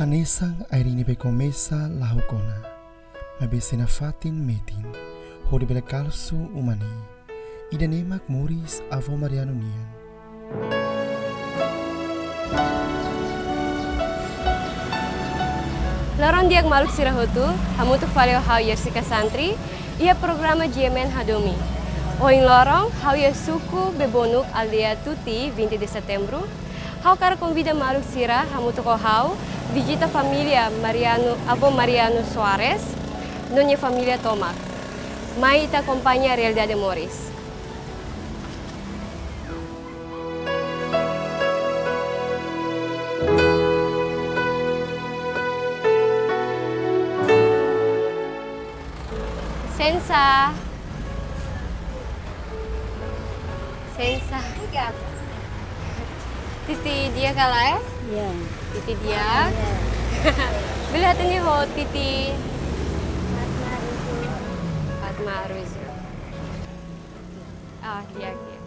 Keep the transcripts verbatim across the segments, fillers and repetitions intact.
Hanesan air ne'ebé komesa la'o ona, maibé sei nafatin metin, hodi bele kalsu uma ne'e. Ida-ne'e mak moris Avó Mariano nian. Loron di'ak maluk sira hotu, hamutuk fali ho ha'u Jessica Santri, iha programa G M N Hadomi. Ohin loron, ha'u iha suku Bebonuk, aldeia Tuti, vinte de Setembru. Ha'u hakarak konvida maluk sira hamutuk ho ha'u vizita família Mariano, Avó Mariano Soares, no nia família tomak. Mai ita akompaña realidade moris. Sensa. Sensa. Titi di'ak ka lae? Ya. Titi di'ak. Ya. Bele hatene ho Titi? Fatma Aruzio. Fatma Aruzio. Ah, di'ak, di'ak.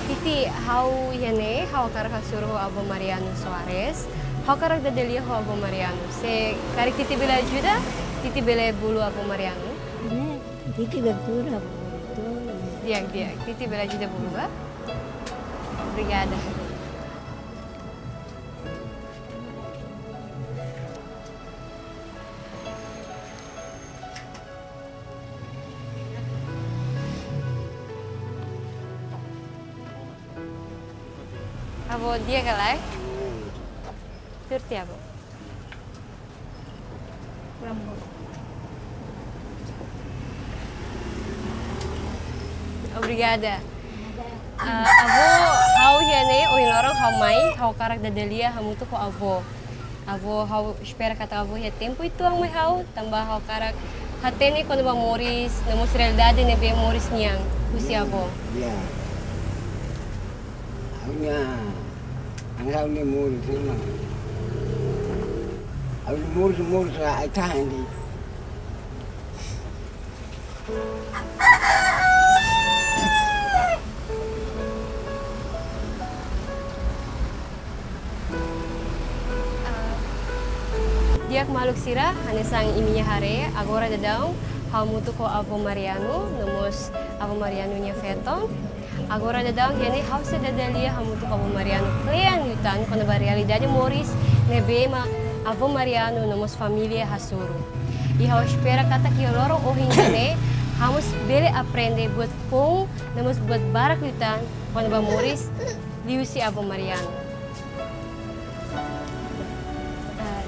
Titi, ha'u iha ne'e, ha'u hakarak hasoru ho Avó Mariano Soares. Ha'u hakarak dada lia ho Avó Mariano. Se karik Titi bele ajuda, Titi bele bolu Avó Mariano. Ne'e, Titi bele ajuda bolu. Di'ak, di'ak. Titi bele ajuda bolu ba? Obrigada. Avó, di'ak ka lae? Tuur tiha, Avó. Obrigada. Ah, Avó, ha'u iha ne'e, ohin loron ha'u mai, ha'u hakarak dada lia hamutuk ho Avó. Avó, ha'u espera katak Avó iha tempu uitoan mai ha'u, tanba ha'u hakarak hatene kona-ba moris, no mós realidade ne'ebé moris nian, husi Avó. Ya. Ha'u-nia, ha'u-nia moris, ema. Ha'u-nia moris, moris, ai-tahan de'it. Di'ak maluk sira, hanesan imi-nia haree, agora daudaun, ha'u hamutuk ho Avó Mariano, no mós Avó Mariano nia feton. Agora daudaun iha ne'e ha'u sei dada lia hamutuk ho Avó Mariano kle'an liután kona-ba realidade moris ne'ebé mak Avó Mariano no mós família hasoru. I ha'u espera katak iha loron ohin ne'e ha'u mós bele aprende buat foun no mós buat barak liután kona-ba moris liuhusi Avó Mariano. Ah,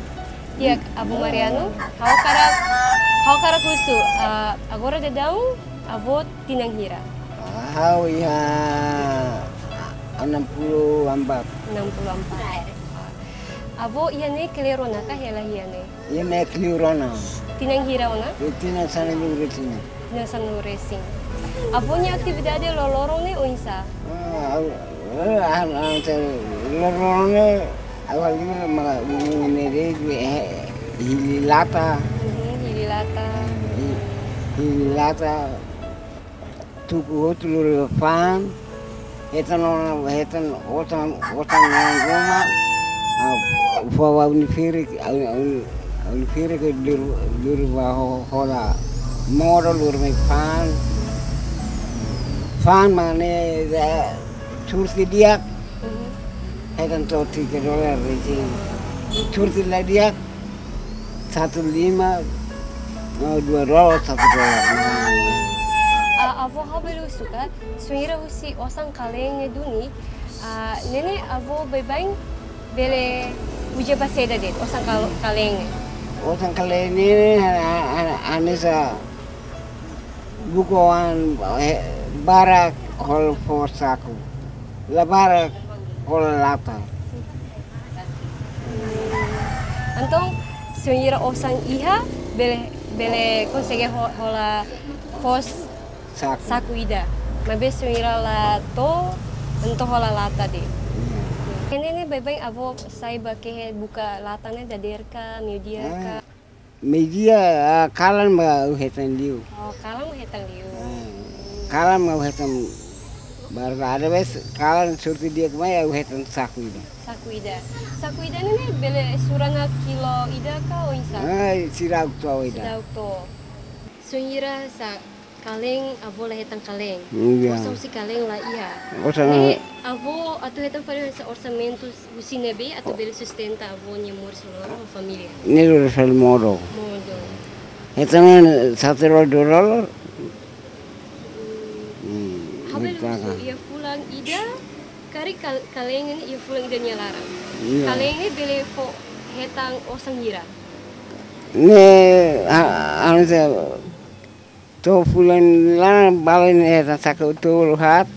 di'ak, Avó Mariano, ha'u hakarak, ha'u hakarak husu, ah, agora daudaun Avó tinan hira? Ha'u iha enam puluh empat. Enam puluh empat. Avó iha ne'e kle'an ona ka hela iha ne'e? Iha ne'e kle'an ona. Tinan hira ona? Iha tinan sanulu-resin. Tinan sanulu-resin. Avó nia atividade loroloron ne'e oinsá? Ah, ha'u, eh, ah, ah, te-, loroloron ne'e, ha'u halo maka, um, ne'e de'it, eh, hili lata. Mhm, hili lata. Hi-, hili lata. Tuku hotu lori fa'an, hetan ona, hetan otan, otan nang ruma, ah, fó ba uni-ferik, ah, uni-, uni-ferik lori, lori ba ho-, hola modo lori mai fa'an. Fa'an mak ne'e, eh, tuur tiha di'ak, hetan to'o tiga dolar resin. Tuur tiha ladi'ak, satu lima, oh, dua dolar, satu dolar. Ah, Avó, ha'u bele husu ka, se wainhira husi osan-kaleen ne'e duni, ah, ne'e ne'e Avó baibain bele uza ba saida de'it, osan-kal-, kaleen ne'e? Osan-kaleen ne'e, ah, ah, ah, hanesan buka oan, eh, barak hola fó saku. La barak hola lata. Entaun, se wainhira osan iha, bele, bele konsege ho-, hola fó saku. Saku ida. Maibé se wainhira la to'o, entaun hola lata de'it. Iya. Ne'e ne'e baibain avó sai ba kehe buka latan ne'e dadeer ka, meiudia ka? Ah, meiudia, ah, kalan mak hetan liu. Oh, kalan mak hetan liu. Ah, kalan mak hetan barak, às vezes kalan sorte di'ak mai hetan saku ida. Saku ida. Saku ida ne'e ne'e bele sura ona kilo ida ka oinsá? Ah, seidauk to'o ida. Seidauk to'o. Bainhira sá kaleen, avó la hetan kaleen. Iya. Osan husi kaleen la iha. Osan. Ne'e, avó atu hetan fali hanesan orsamentu husi ne'ebé atu bele sustenta avó nia moris loron ho família? Ne'e lori fali modo. Modo. Hetan satu dólar. Hmm. Hmm, ha'u bele husu, iha fulan ida, karik kal-, kaleen ne'e iha fulan ida nia laran. Iya. Kaleen ne'e bele fó hetan osan hira? Ne'e, ha-, anu se, to'o fulan laran bale ne'e hetan saku tolu haat,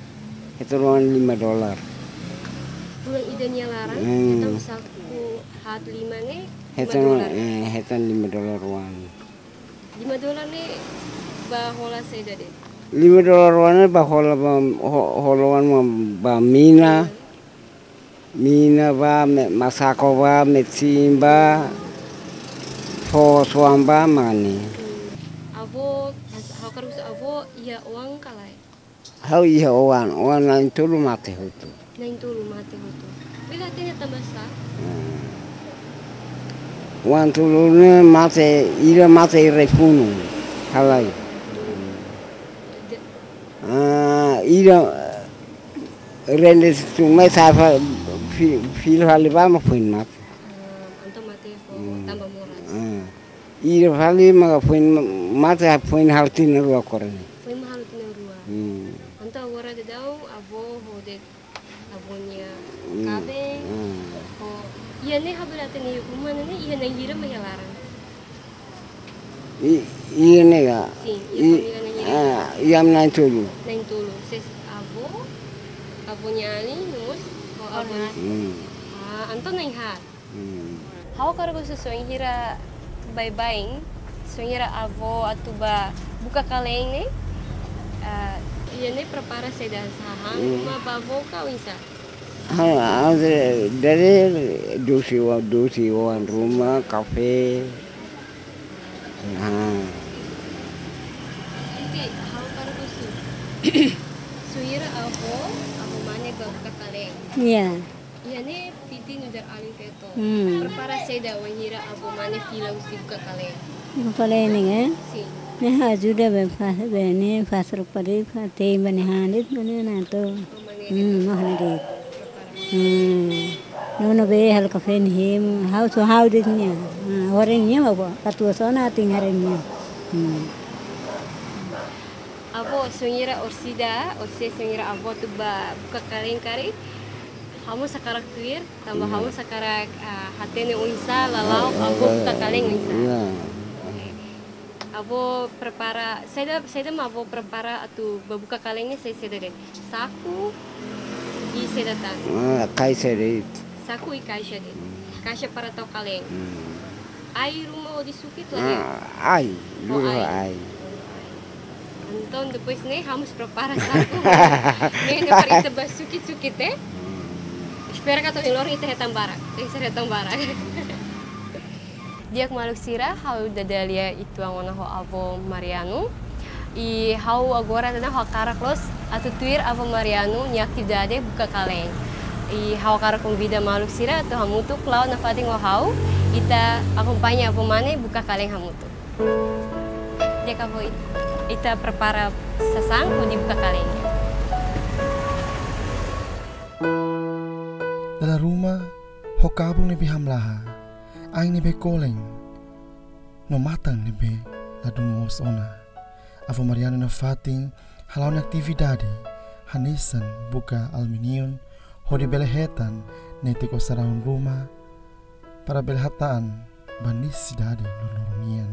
hetan ruma lima dólar. Fulan ida nia laran, hmm, hetan saku haat lima ne'e, lima dólar. Hetan, eh, hetan lima dólar oan. Lima dólar ne'e ba hola saida de'it? Lima dólar oan ne'e ba hola ba, ho-, hola oan ba mina. Mina ba, me-, masako ba, metin ba, fó soan ba, mak ne'e. Hmm. Avó, as-, ha'u hakarak husu avó iha oan ka lae? Ha'u iha oan, oan na'in-tolu mate hotu. Na'in-tolu mate hotu. Bele hatene tanba sá? Hmm. Oan tolu ne'e mate, ida mate rai-funu, halai. De- Ah, ida rende tun mai sa'e fa-, fi-, fila fali ba mak foin mate. Ah, entaun mate fó, hmm, tanba moras. Ah. Ida fali mak foin ma-, mate, foin halo tinan rua agora ne'e. Foin mak halo tinan rua. Hmm. Entaun agora daudaun avó ho de'it avó nia, hmm, kaben, hmm, ho, iha ne'e ha'u bele hatene iha uma ne'e, iha na'in hira mak iha laran? I-, iha ne'e ka? Sin, iha família na'in hira. Ah, iha na'in-tolu. Na'in-tolu. Ses avó, avó nia alin, no mós ho avó nia. Hmm. Ah, entaun na'in haat. Hmm. Ha'u hakarak husu, bainhira baibain, bainhira avó atu ba buka kaleen ne'e, ah, iha ne'e prepara saida, hahán, hmm, ruma ba avó ka oinsá? Ah, ah, de-, dadeer dosi oan, dosi oan ruma, kafé. Ah. Iti, ha'u hakarak husu. Bainhira avó, avó mane ba buka kaleen. Iya. Iha ne'e Titi nu'udar alin feto. Hmm. Prepara saida bainhira avó mane fila husi buka kaleen? Buka kaleen ne'e, eh? Sin. Ne'e ajuda be fa-, be ne'e fase roupa de'it, fa-, tei ba nia han de'it, mane na to. Oh, mane. Hmm, mane de'it. Prepara. Hmm. Nono be halo kafé nia hemu, ha'u só ha'u de'it nia. Hmm, hore nia ba, katuas ona atin hare nia. Hmm. Avó, bainhira orsida, orsida bainhira avó atu ba buka kaleen karik, ha'u mós hakarak tuir, tanba, hmm, ha'u mós hakarak, ah, hatene oinsá lala'ok, ah, avó, ah, buka kaleen oinsá. Iya. Avó prepara, saida, saida mak avó prepara atu ba buka kaleen ne'e, saida, saida de'it? Saku, i saida tan? Ah, kaixa de'it. Saku i kaixa de'it. Hmm. Kaixa para tau kaleen. Hmm. Ai ruma hodi sukit la iha? Ah, ai, oh, luru ai. Ai. Entaun depois ne'e ha'u mós prepara saku. Ne'e, ne'e para ita ba sukit-sukit, eh? Hmm. Espera katak ohin loron ita hetan barak. Ita hetan barak. Di'ak maluk sira, ha'u dada lia uitoan ona ho avó Mariano. I ha'u agora daudaun ha'u hakarak loos atu tuir avó Mariano nia atividade buka kaleen. I ha'u hakarak konvida maluk sira atu hamutuk la'o nafatin ho ha'u, ita akompaña avó mane buka kaleen hamutuk. Di'ak avó, it-, ita prepara sasán hodi buka kaleen. Dala ruma, ho kabun ne'ebé hamlaha, ain ne'ebé kolen, no matan ne'ebé ladún moos ona. Avó Mariano nafatin hala'o nia atividade hanesan buka alumíniu hodi bele hetan netik osan ruma para bele hatán ba nesesidade loroloron nian.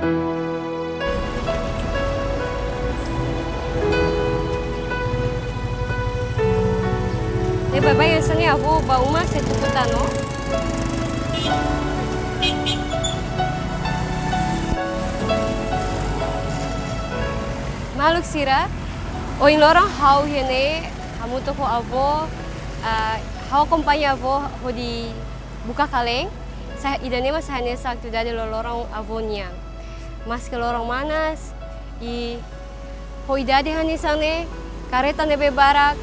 Ne'e baibain hanesan ne'e avó ba uma sei tuku tan ona. Maluk sira, ohin loron ha'u iha ne'e hamutuk ho avó, ah, ha'u akompaña avó hodi buka kalen, sa-, ida-ne'e mak sai hanesan atividade loroloron avó nian. Maske loron manas, i ho idade hanesan ne'e, karreta ne'ebé barak,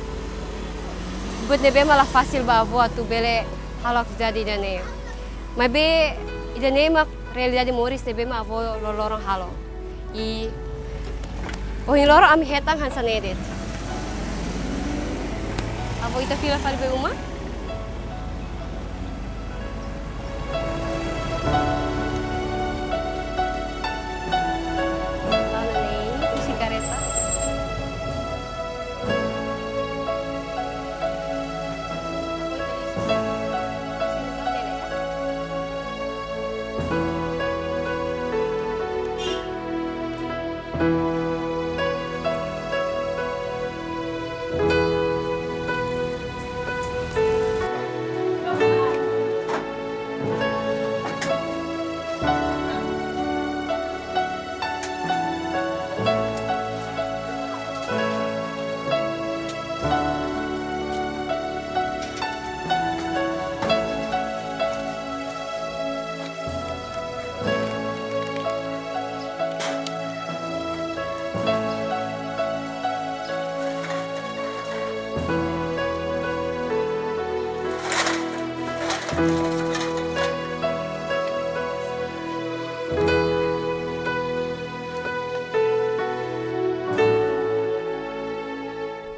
buat ne'ebé mak la fasil ba avó atu bele halo atividade ida-ne'e. Maibé ida-ne'e mak realidade moris ne'ebé mak avó loroloron halo. I ohin loron ami hetan hanesan ne'e de'it. Avó, ita fila fali ba uma? Lana ne'e, husi karreta.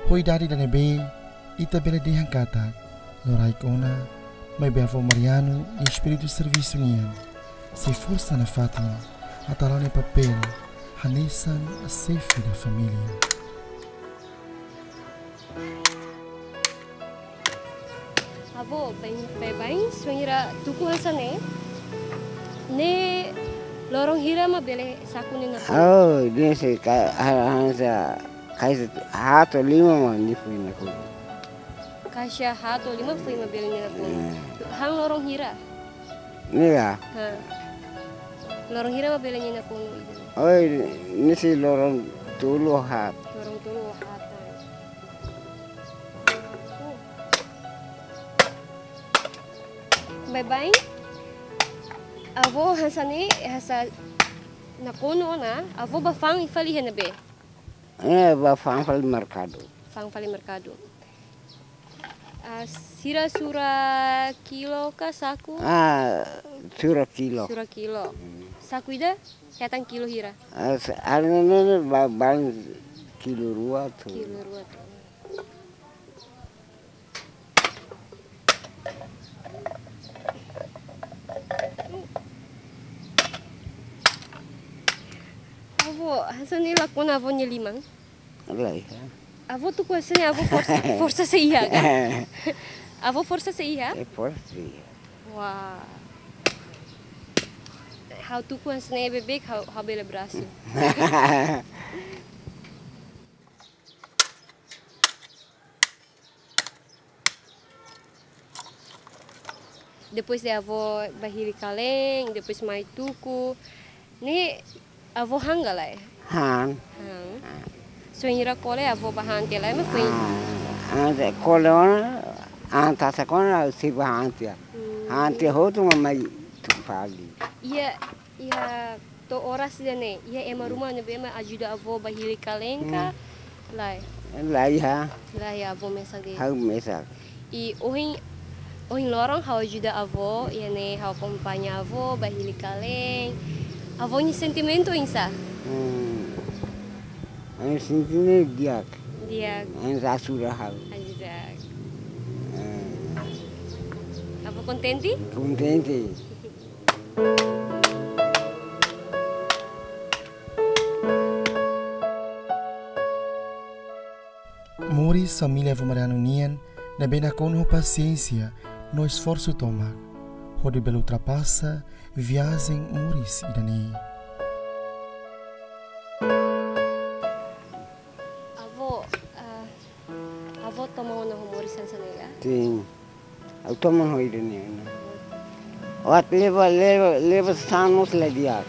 Ho idade ida-ne'ebé, ita bele dehan katak loraik ona, maibé avó Mariano nia espíritu servisu nian sei forsa nafatin atu hala'o nia papél hanesan xefe da família. Avó, baibain, baibain, se ohin hira tuku hanesan ne'e, ne'e loron hira mak bele saku nia nakonu? Oh, ne'e sei ka-, ha-, hanesan kaixa haat to'o lima mak nia foin nakonu. Kaixa haat to'o lima foin mak bele nia nakonu. Eh. Han loron hira? Ne'e ka? Ha. Loron hira mak bele nia nakonu ida? Oi, ne'e sei loron tolu haat. Loron tolu haat. Baibain, avó hanesan ne'e, hanesan nakonu ona, avó bá fa'an fali iha ne'ebé? Eh, bá fa'an fali merkadu. Fa'an fali merkadu. Ah, sira sura kilo ka saku? Ah, sura kilo. Sura kilo. Hmm. Saku ida hetan kilo hira? Ah, sa-, anu ne'e, ne'e ba-, balu kilo rua tu. Kilo rua tu. Avó, hanesan ne'e lakon avó nia liman? Lae, ha? Avó tuku hanesan ne'e, avó forsa, forsa sei iha ka? Avó forsa sei iha? Eh, forsa sei iha. Wah. Ha'u tuku hanesan ne'e beibeik, ha'u, ha'u bele berhasil. Depois de avó bá hili kalen, depois mai tuku. Ne'e avó han ka lae? Han. Han. Han. Se ohin hira kole avó bá han tiha lae, mak foin? Ah, ante kole ona, ante asa kona, sei bá han tiha. Hmm. Han tiha hotu mak mai tuku fali. Iha, iha to'o oras ida-ne'e, iha ema ruma ne'ebé mak ajuda avó bá hili kalen ka? Hmm. Lae. Lae iha. Lae, avó mesak de'it. Ha'u mesak. I ohin, ohin loron ha'u ajuda avó, iha ne'e ha'u akompaña avó bá hili kalen. Avó nia sentimentu oinsá? Hmm. Ami sentimentu di'ak. Di'ak. Ami ajuda ha'u. Ajuda. Eh. Avó kontente? Kontente. Moris família avó Mariano nian ne'ebé nakonu ho pasiénsia no esforsu tomak hodi bele ultrapasa viajen moris ida-ne'e. Ha'u toman ho ida-ne'e ona. Ó atu leba, leba, leba sasán mós la di'ak.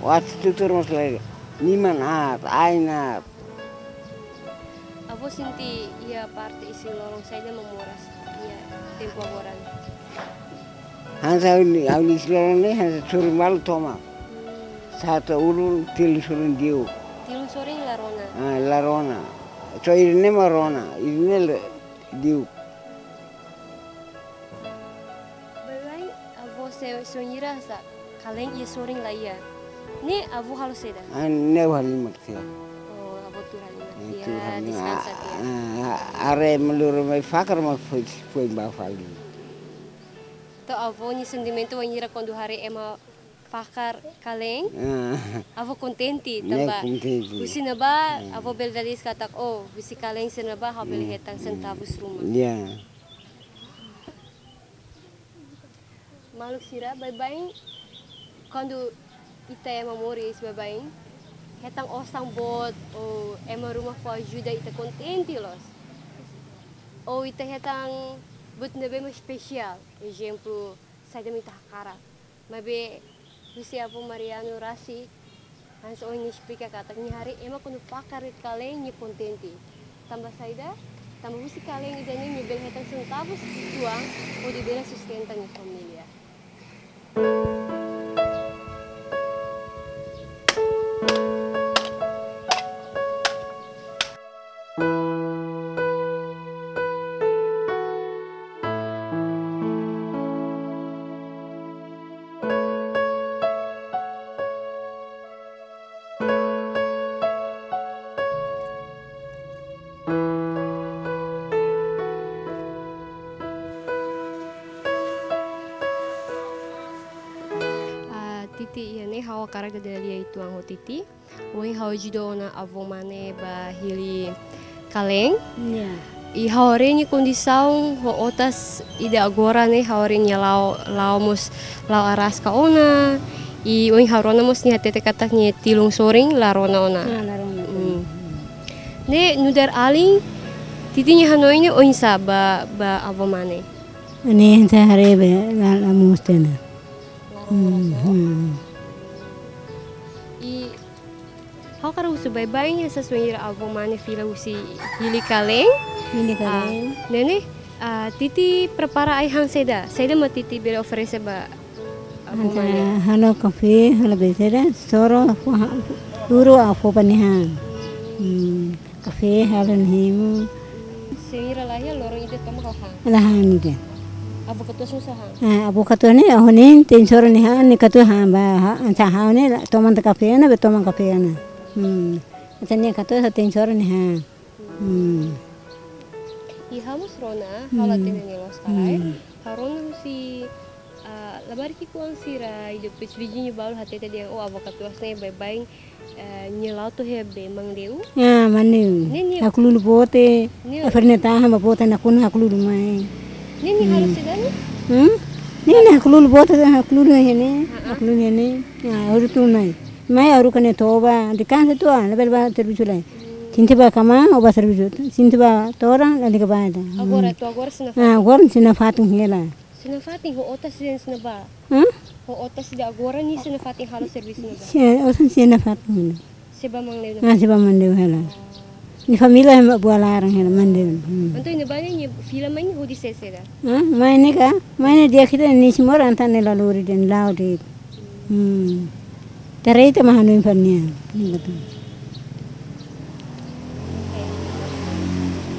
Ó atu tutur mós la di'ak. Liman aat, ain aat. Avó sente iha parte isin-lolon saida mak moras iha tempu agora? Hanesan ha'u-nia, ha'u-nia isin-lolon ne'e, hanesan sorin balu tomak. Hmm. Sa'e ulun, tilun sorin di'ak. Tilun sorin la rona? Ah, la rona. Só ida-ne'e mak rona, ida-ne'e la di'ak. Baibain, avó se, se wainhira sá, kalen iha sorin la iha. Ne'e avó halo saida? Ah, ne'e ha'u halimar tiha. Oh, avó tuur halimar tiha. Ne'e tuur halimar. Deskansa tiha. Ah, ah, haree ema loro mai fakar mak foin, foin bá fali. Entaun avó nia sentimentu wainhira kuandu haree ema fakar kalen, ah, avó kontente. Ne'e tanba kontente. Husi ne'ebá, ah, avó bele dada iis katak, oh, husi kalen sira-ne'ebá ha'u bele, hmm, hetan, hmm, sentavus ruma. Ya. Maluk sira, baibain, kuandu ita ema moris, baibain hetan osan boot, ou ema ruma fó ajuda, ita kontente loos. Ou ita hetan buat ne'ebé mak espesiál, ezemplu, saida mak ita hakarak. Maibé husi avó Mariano rasik, hanesan ohin nia esplika katak nia haree ema kuandu fakar de'it kalen nia kontente. Tanba saida? Tanba husi kalen ida-ne'e nia bele hetan sentavus uitoan hodi bele sustenta nia família. Ah, Titi, iha ne'e ha'u hakarak dada lia uitoan ho Titi. Ohin ha'u ajuda ona avó Mane bá hili kalen. Ya. I ha'u haree nia kondisaun ho otas ida agora ne'e, ha'u haree nia la'o, la'o mós la'o araska ona. I ohin ha'u rona mós nia hatete katak nia tilun sorin la rona ona. Ah, la rona. Hmm. Ne'e nu'udar alin, Titi nia hanoin ne'e oinsá ba, ba avó Mane? Ne'e hanesan haree be la, la moos tiha ona. La rona. Hmm, moras, ya? Hmm. I ha'u hakarak husu baibain, hanesan wainhira avó Mane fila husi hili kalen. Hili kalen. Ah, ne'e ne'e, ah, Titi prepara ai-han saida? Saida mak Titi bele oferese ba avó Mane? Hanesan halo kafé, halo be saida, soro, fó ha-, duru, ah, fó ba nia han. Hmm. Kafé halo nia hemu. Se wainhira laiha, loron ida tomak ha'u han? La han ida. Avó katuas mós han? Ah, avó katuas ne'e, ho nia tein soro nia han, nia katuas han ba, ha, hanesan ha'u ne'e, la, toman tiha kafé ona, be toman kafé ona. Hmm. Hanesan nia katuas tein soro nia han. Hmm. I ha'u mós rona, ha'u la, hmm, hatene nia loos ka lae. Hmm. Ha'u rona husi, ah, labarik ki'ikoan sira, i depois viziñu balu hatete dehan, oh, avó katuas ne'e baibain, eh, nia la'o to'o iha be Mangleu. Ah, Mangleu. Ne'e nia haklulu boot, ne'e, a ferne tahan ba boot nakonu haklulu mai. Ne'e nia halo, hmm, saida ne'e? Hmm? Ne'e nia haklulu boot, haklulu iha ne'e, ah, ah, haklulu iha ne'e. Ah, haruka tun mai. Mai haruka nia toba, deskansa uitoan, labele bá servisu lai. Sente bá kama, ó bá servisu. Sente bá todan, lalika bá ida. Agora, hmm, to'o agora sira nafatin? Ah, agora sira nafatin hela. Sira nafatin, ho otas sira ne'ebá? Hah? Ho otas sira agora ne'e sira nafatin halo servisu ne'ebá? Sira, otas sira nafatin hela. Sira bá Mangleu ne'ebá? Ah, sira bá Mangleu hela. Ah. Nia família ema buat laran hela Mangleu. Hmm. Entaun ne'ebá ne'e nia fila mai ne'e hodi saida saida? Hah? Mai ne'e ka? Mai ne'e di'ak ida, nia sei moras, entaun nia la lori de'it, nia la'o de'it. Hmm. Tarei ita mak hanoin fali nia. Hmm, betul. Oke.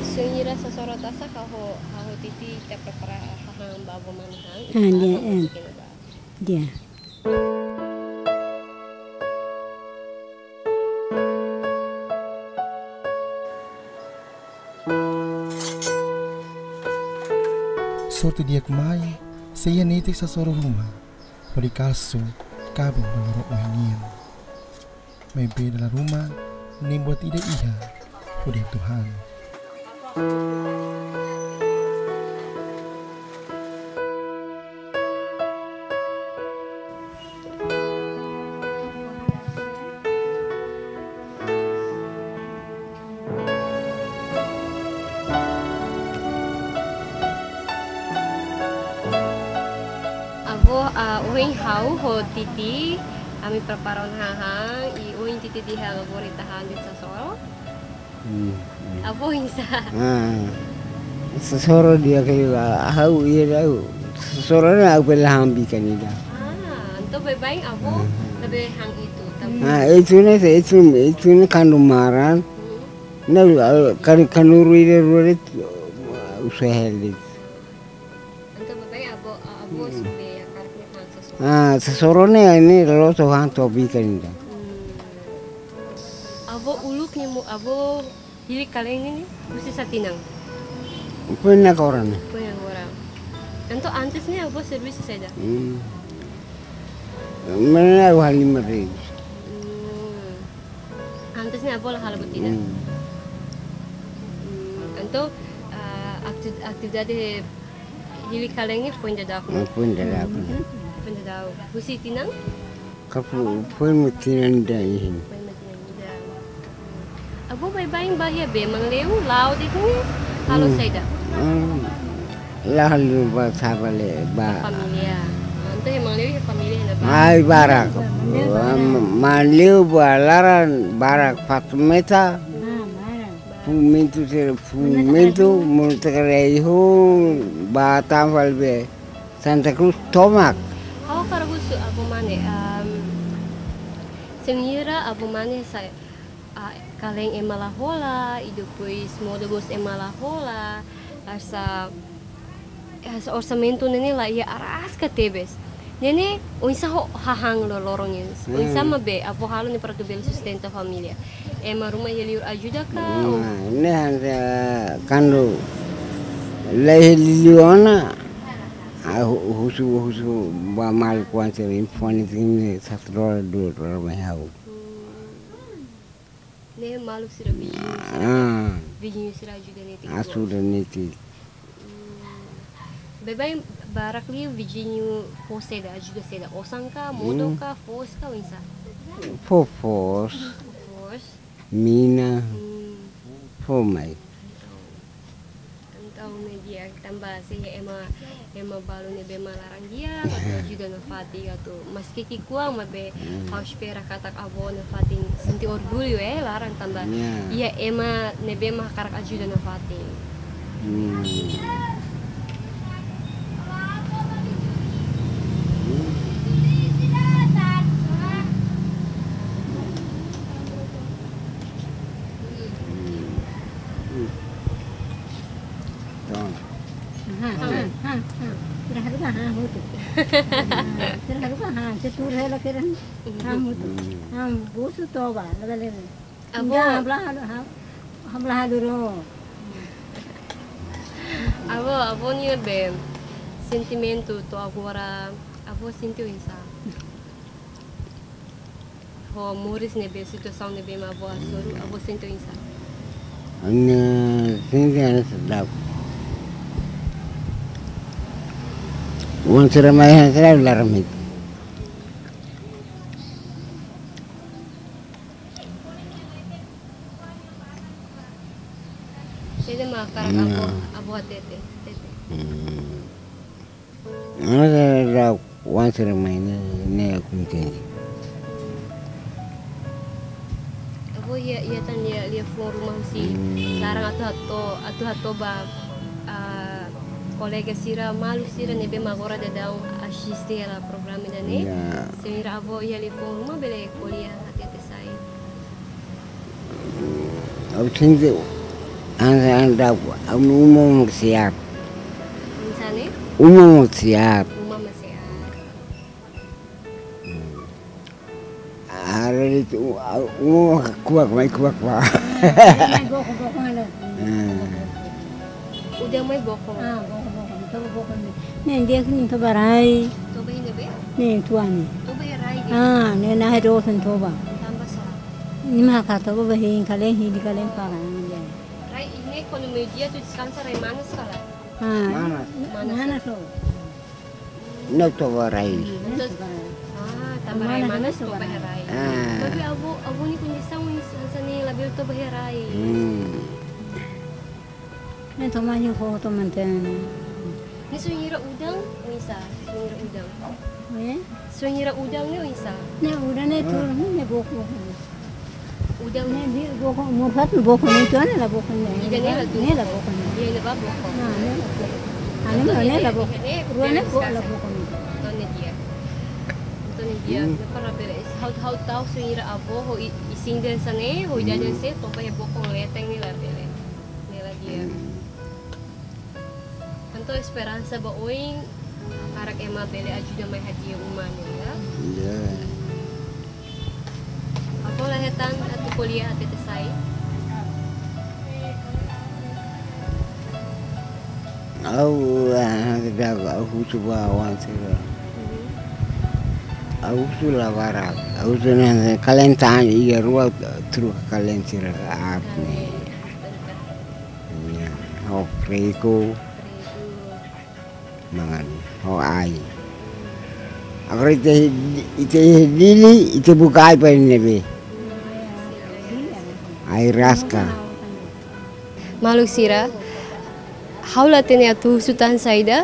Se wainhira sasoro tasak, ha'u ho, ha'u ho Titi ita prepara hahán ba avó Mane han. Ah, ita di'ak, hahán, eh, masukin ba. Di'ak. Sorte di'ak mai, se iha netik sasoro ruma, hodi kalsu kabun ba loro oin nian. Maibé dala ruma, nein buat ida iha hodi hatuhan. Ohin ha'u ho Titi, ami prepara ona hahán, i ohin Titi dehan agora ita han de'it sasoro. Hmm, hmm. Avó oinsá? Ah, sasoro di'ak liu, ha'u iha ha'u. Sasoro ne'e ha'u bele han bikan ida. Ah, entaun baibain avó, hmm, labele han itu, tapi ah, itu ne'e, itu, itu ne'e kuandu maran. Hmm. Ne'e, ah, kan, kuandu rua ida rua de'it, usa hela de'it. Entaun baibain avó, avó, hmm, sudah ya, karena han sasoro. Ah, sasoro ne'e, ne'e loloos han to'o bikan ida. Hmm. Avó uluk ne'e mo, avó hili kalen ne'e husi sá tinan? Foin agora ne'e. Foin agora. Entaun antes ne'e avó servisu saida? Hmm. Mana ha'u halimar de'it. Hmm. Antes ne'e avó la halo buat ida. Hmm. Hmm. Entaun, ah, akti-, atividade hili kalen ne'e foin daudauk? Hmm, foin daudauk. Hmm. Foin daudauk. Husi tinan? Ka fo-, foin mak tinan ida iha. Foin mak tinan ida. Avó baibain ba iha bee, Manleu, la'o de'it ne'e, halo, hmm, saida? Hmm. La halo ba sá bele ba. Família. Entaun iha Manleu iha família iha ne'ebá? Ai, barak. Manleu barak. Am-, Manleu ba laran barak Fatumeta. Ah, barak. Fumentu sira, fumentu, monu takare iho, ba tan fali bee. Santa Cruz tomak. Ha'u hakarak husu avó mane, am, se mira avó mane sá, ah, kalen ema la hola, i depois modo mós ema la hola, hanesan, hanesan orsamentu ne'e ne'e la iha, araska tebes. Ne'e ne'e, oinsá ho hahán loroloron ne'e? Hmm. Oinsá mak bee, avó halo ne'e para atu bele sustenta família? Ema ruma iha liur ajuda ka? Hmm, ou? Ne'e hanesan kuandu la iha liur ona, ah, hu-, husu, husu ba maluk oan sira, info ne'e, satu dolar, dua dolar mai ha'u. Hmm. Ne'e maluk sira, viziñu sira. Ah. Viziñu sira ajuda netik. Ajuda netik. Hmm. Baibain barak liu viziñu fó saida, ajuda saida? Osan ka, modo, hmm, ka, foos ka, oinsá? Fó foos. Foos. Mina. Hmm. Fó mai. Entaun, entaun ne'e di'ak tanba se iha ema, ema balu ne'ebé mak laran di'ak, atu ajuda nafatin, atu maski ki'ikoan maibé, hmm, ha'u espera katak avó nafatin sente orgullu, eh, laran tanba, ya, iha ema ne'ebé mak hakarak ajuda nafatin. Hmm. Hmm. Hmm. Toma. Ha, ha, ha, ha. Sira haruka ha hotu. Ah, sira haruka ha, se tuur hela keren. Ha hotu. Hmm. Ha, busu toba, lebe lebe. Avó. Enggak, hamlaha, ha, hamlaha dulu. Avó, avó-nia be sentimentu to'o agora, avó sente oinsá? Ho moris ne'ebé, situasaun ne'ebé mak avó hasoru, avó sente oinsá? Ha'u-nia sente hanesan daudauk. Oan sira mai hanesan daudauk laran mai. Saida mak hakarak, hmm, avó, avó hatete, hatete. Hmm. Agora daudauk oan sira mai ne'e, ne'e kontente. Avó iha, iha tan iha, iha foun ruma husi, hmm, laran atu hato'o, atu hato'o ba, ah, kolega sira, maluk sira ne'ebé mak agora daudaun asiste hela programa ida-ne'e. Ya. Se mira avó iha liafuan ruma bele ko'alia hatete sai. Ha'u sente hanesan daudauk, ha'u-nia uma mak sehat. Oinsá ne'e? Uma mak sehat. Uma mak sehat. Haree de'it, u-, uma mak kuak, mai kuak ba. Ah, mai boko, boko, halo. Hmm. Udan mai boko. Ah, boko, boko. Toba boko ne'e. Ne'e di'ak nia toba rai. Toba iha ne'ebé? Ne'e tuan ne'e. Toba iha rai de'it? Ah, ne'e nahe dosen toba. Tanba sá? Nia mak hakarak toba ba hein kalen, hili kalen para, ah, di'ak. Rai ne'e kuandu meiudia atu deskansa rai manas ka lae? Ah, manas. Manas, manas ya? Loos. Ne'e toba rai. Hmm, ne'e toba rai. Ah, tanba rai manas, manas, toba iha rai. Ah. Tapi avó, avó-nia kondisaun oinsá, oinsá ne'e labele toba iha rai? Hmm. Ne'e toba iha foho toba mantein. Ne'e se mira udan, oinsá, se mira udan? Eh? Sira-nia udan ne'e oinsá? Ne'e udan ne'e turun, ne'e boko. Udan ne'e di boko, murhat boko ne'e tuan ne'e la boko ne'e. Ida-ne'e la tu. Ne'e la boko ne'e. Ida-ne'e ba boko. Ah, ne'e la boko. Ah, ne'e la boko. Rua ne'e boko la boko ne'e. Entaun ne'e di'ak. Entaun ne'e di'ak. Hmm. Ne'e para bele. Ha'u, ha'u tau sira-nia avó ho i-, isin de'it hanesan ne'e, ho idade hanesan ne'e, toba iha boko leten ne'e la bele. Ne'e la di'ak. Hmm. Entaun esperansa ba oin, hakarak ema bele ajuda mai hadi'a uma ne'e, ya. Ya. Avó la hetan atu ko'alia hatete sai? Ha'u, ah, ha'u husu ba oan sira. Mhm. Ha'u husu la barak. Ha'u husu ne'e, kalen tan iha rua, truka kalen sira aat ne'e. Ya, ho freku. Freku. Mangan, ho ai. Agora ita, ita Dili, ita buka ai para ne'ebé. Ai raska. Maluk sira, ha'u la hatene atu husu tan saida,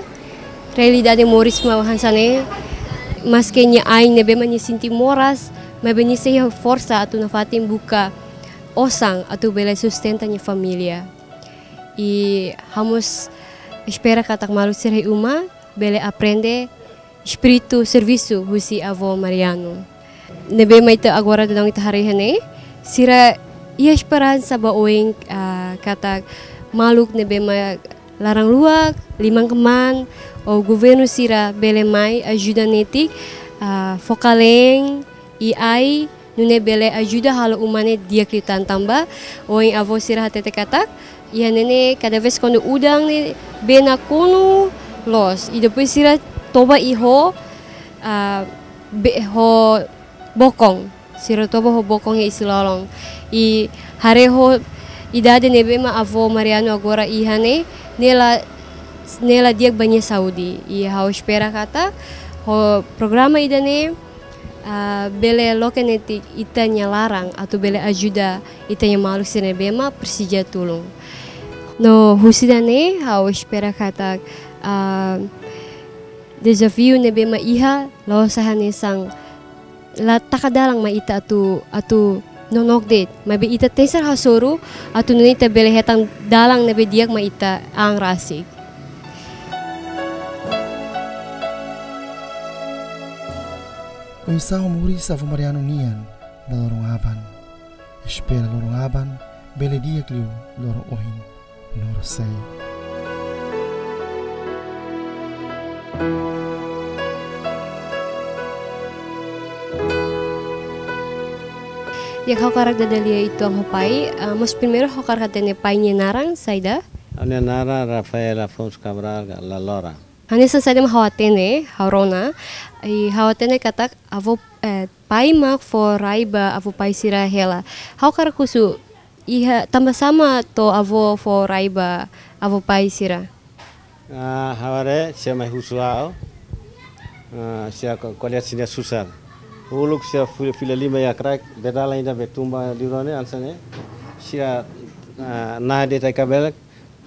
realidade moris mak hanesan ne'e, maske nia ain ne'ebé mak nia sente moras, maibé nia sei iha forsa atu nafatin buka osan atu bele sustenta nia família. I ha'u mós espera katak maluk sira iha uma bele aprende espíritu servisu husi avó Mariano. Ne'ebé mak ita agora daudaun ita haree iha ne'e, sira iha esperansa ba oin, ah, katak maluk ne'ebé mak laran luak, liman-kmaan, ou governu sira bele mai ajuda netik, ah, fó kalen, i ai, nune'e bele ajuda halo uma ne'e di'ak liután tanba ohin avó sira hatete katak, iha ne'e ne'e kada vez kuandu udan ne'e bee nakonu loos. I depois sira toba i ho, ah, bee ho bokon. Sira toba ho bokon iha isin-lolon. I haree ho idade ne'ebé mak avó Mariano agora iha ne'e, ne'e la, ne'e la di'ak ba nia saúde. I ha'u espera katak ho programa ida-ne'e, ah, bele loke netik ita-nia laran atu bele ajuda ita-nia maluk sira ne'ebé mak presiza tulun. No husi ida-ne'e ha'u espera katak, ah, dezafiu ne'ebé mak iha la'ós hanesan la taka dalan mai ita atu, atu nonook de'it. Maibé ita tenke hasoru atu nune'e ita bele hetan dalan ne'ebé di'ak mai ita an rasik. Oinsá moris avó Mariano nian ba loron aban. Espera loron aban bele di'ak liu loron ohin no sei. Ya, ha'u hakarak dada lia uitoan ho pai, ah, mas primeiru ha'u hakarak hatene pai nia naran saida? Ha'u-nia naran Rafael Afonso Cabral Lalora. Hanesan saida mak ha'u hatene, ha'u rona, i ha'u hatene katak avó, eh, pai mak fó rai ba avó pai sira hela. Ha'u hakarak husu, iha tanba sá mak to'o avó fó rai ba avó pai sira? Ah, ha'u haree, sira mai husu ha'u. Ah, sira ko-, ko'alia sira-nia susar. Uluk sira fila, fila lima iha kraik, bee dalan ida bee tun ba liur ne'e, hanesan ne'e. Sira, ah, naha de'it ai-kabelek,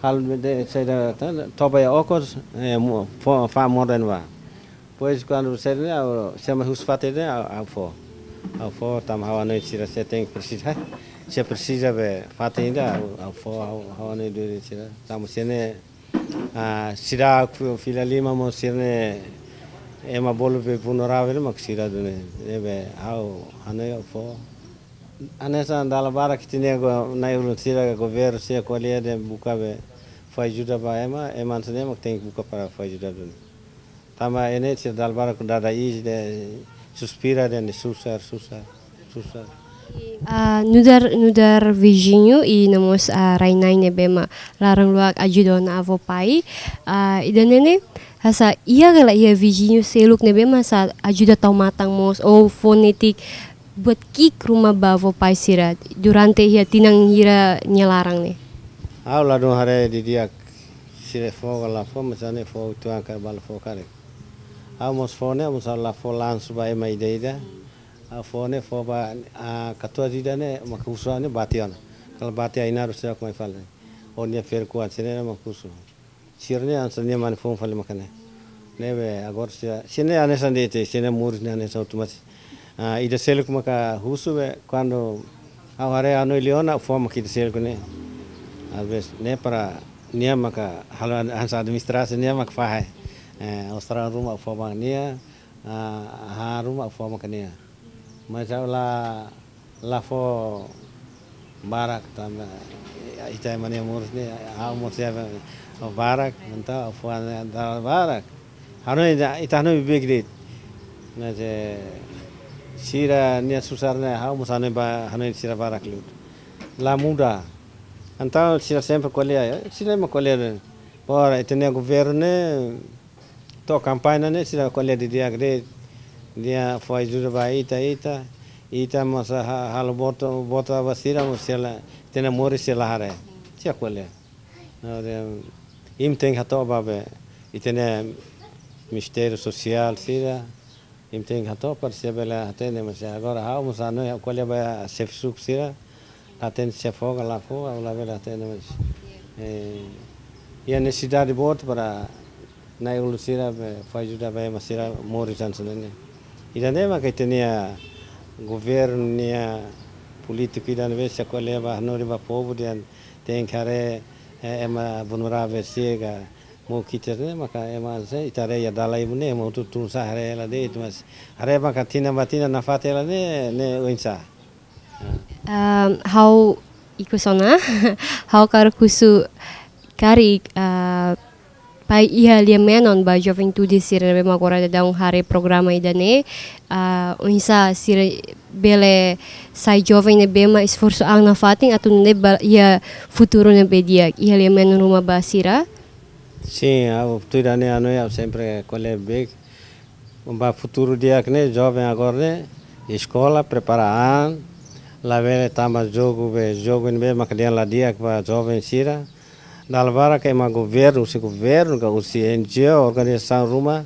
halo de'it saida, ta-, toba iha okos, eh, mo-, fó, fa'an modo ne'ebá. Depois kuandu sira ne'e, ha'u, sira mai husu fatin ne'e, ha'u, ha'u fó. Ha'u fó, tanba ha'u hanoin sira sei tenke presiza. Sira presiza be fatin ida, ha'u, ha'u fó, ha'u, ha'u hanoin duni sira. Tanba sira ne'e, ah, sira ku fila lima mós sira ne'e ema bolu be vulnerável mak sira duni. Ne'ebé ha'u hanoin ha'u fó. Hanesan dala barak ita-nia go-, na'i-ulun sira governu sira ko'alia dehan buka be fó ajuda ba ema, ema hanesan ne'e mak tenke buka para fó ajuda duni. Tanba ne'e sira dala barak dada iis dehan suspira dehan susar, susar, susar. Ah, nu'udar, nu'udar viziñu i no mós, ah, rai-na'in ne'ebé mak laran luak ajuda ona avó pai. Ah, ida-ne'e ne'e, hanesan iha ka lae iha viziñu seluk ne'ebé mak hanesan ajuda tau matan mós, ou fó netik buat ki'ik ruma ba avó pai sira durante iha tinan hira nia laran ne'e? Ha'u ladún haree didi'ak, sira fó ka la fó, mas ha'u-nia fó uitoan karik ba la fó karik. Ha'u mós fó ne'e, mós ha'u la fó langsung ba ema ida-ida. Ha'u fó ne'e fó ba, ah, katuas ida ne'e, mak husu ha'u ne'e bati ona. Kala bati ai naru sira mai fali. Ou nia ferik-oan sira ne'e mak husu. Sira ne'e hanesan nia mane foun fali maka ne'e. Ne'ebé agora sira, sira ne'e hanesan de'it, sira ne'e moris ne'e hanesan hotu, mas, ah, ida seluk maka husu be, kuandu ha'u haree ha'u-nia liafuan, ha'u fó maka ida seluk ne'e. Às vezes, ne'e para nia maka halo an-, hanesan administrasi nia maka fahe. Eh, Austrália ruma ha'u fó maka nia, ah, hahán ruma ha'u fó maka nia. Mas ha'u la, la fó barak tanba ita ema nia moris ne'e, ha'u mós iha barak, entaun ha'u fó ne'e dala barak. Hanoin ita, ita hanoin beibeik de'it. Mas, eh, sira-nia susar ne'e ha'u mós hanoin ba, hanoin sira barak liu. La muda. Entaun sira sempre ko'alia, eh, sira ema ko'alia. Agora, ita-nia governu ne'e, to'o kampaña ne'e sira ko'alia didi'ak de'it, nia fó ajuda ba ita, ita, ita mós ha-, halo vota, vota ba sira, mós sira la, ita-nia moris sira la haree. Sira ko'alia. Agora, imi tenke hato'o ba be, ita-nia Ministériu Sosiál sira, imi tenke hato'o para sira bele hatene, mas agora ha'u mós hanoin, ha'u ko'alia ba xefe suku sira, la hatene se fó ka la fó, ha'u labele hatene, mas, eh, iha nesesidade boot para na'i-ulun sira be fó ajuda ba ema sira moris hanesan ne'e. Ida-ne'e maka ita-nia governu nia polítiku ida ne'ebé sira ko'alia ba hanorin ba povu dehan tenke haree, eh, ema vulneravel sira ka mós ki'ik ne'e, maka ema se ita haree iha dalan ida-ne'e, ema hotu tun sa'e haree hela de'it, mas haree maka tinan ba tinan nafatin hela ne'e, ne'e oinsá. Ah, ha'u ikus ona, ha'u hakarak husu karik, ah, pai iha lia-menon ba juventude sira ne'ebé mak agora daudaun haree programa ida-ne'e, ah, oinsá sira bele sai joven ne'ebé mak esforsu an nafatin atu nune'e ba iha futuru ne'ebé di'ak, iha lia-menon ruma ba sira. Sin, ha'u tuir ha'u-nia hanoin ha'u sempre ko'alia beibeik. Ba futuru di'ak ne'e, joven agora ne'e, eskola, prepara an, labele tama jogu be, jogu ne'ebé maka dehan la di'ak ba joven sira. Dala barak ema governu, husi governu ka husi N G O, organizasaun ruma,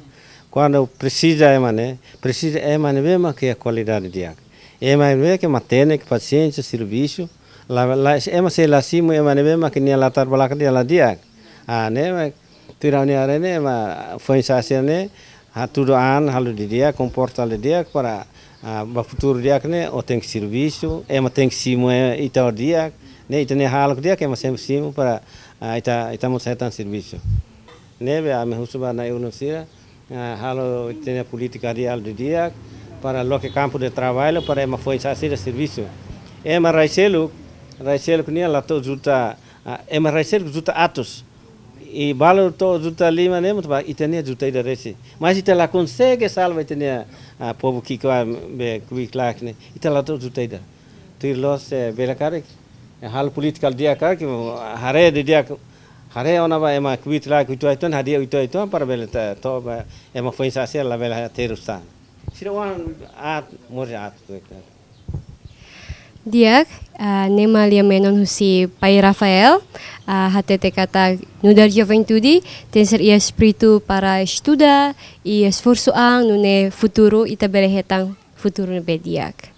kuandu presiza ema ne'e, presiza ema ne'ebé maka iha kualidade di'ak. Ema ne'ebé ke matenek, pasiénsia, servisu, la, la, ema sei la simu ema ne'ebé maka nia latar belakang dehan la di'ak. Ah, ne'e mak tuir ha'u-nia haree ne'e ema foin-sa'e sira ne'e hatudu an halo didi'ak, komporta halo didi'ak para, ah, ba futuru di'ak ne'e ó tenke servisu, ema tenke simu, eh, ita ho di'ak, ne'e ita-nia hahalok di'ak ema sempre simu para, ah, ita, ita mós hetan servisu. Ne'ebé ami husu ba na'i-ulun sira, ah, halo ita-nia polítika di'ak halo didi'ak para loke kampu de traballu para ema foin-sa'e sira servisu. Ema rai seluk, rai seluk nian la to'o juta, ah, ema rai seluk juta atus. I balu to'o juta lima ne'e, mas ba ita-nia juta ida resin. Mas ita la konsege salva ita-nia, ah, povu ki'ik be kuik lak ne'e. Ita la to'o juta ida. Tuir loos, eh, bele karik, eh, halo polítika di'ak karik, haree didi'ak, haree ona ba ema kuik lak, uitoan-uitoan, hadi'a uitoan-uitoan, para bele ta, to'o ba ema foin-sa'e sira labele terus tan. Sira oan aat, moris aat. Di'ak, ah, ne'e mak lia-menon husi Pai Rafael, ah, hatete katak nu'udar juventude tenke ser iha espíritu para estuda i esforsu an nune'e futuru ita bele hetan futuru ne'ebé di'ak.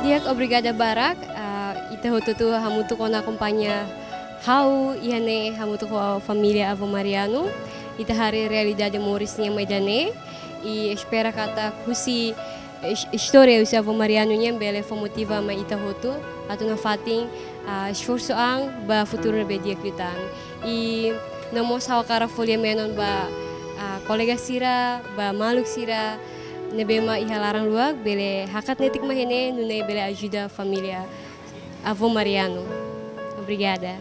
Di'ak, obrigada barak, ah, ita hotu-hotu hamutuk ona akompaña ha'u iha ne'e hamutuk ho família Avó Mariano. Ita haree realidade moris nian mai ida-ne'e. I espera katak husi is-, istória husi Avó Mariano nian bele fó motiva mai ita hotu atu nafatin, ah, esforsu an ba futuru ne'ebé di'ak liután. I no mós ha'u hakarak fó lia-menon ba, ah, kolega sira, ba maluk sira ne'ebé mak iha laran luak, bele hakat netik mai iha ne'e nune'e bele ajuda família Avó Mariano. Obrigada.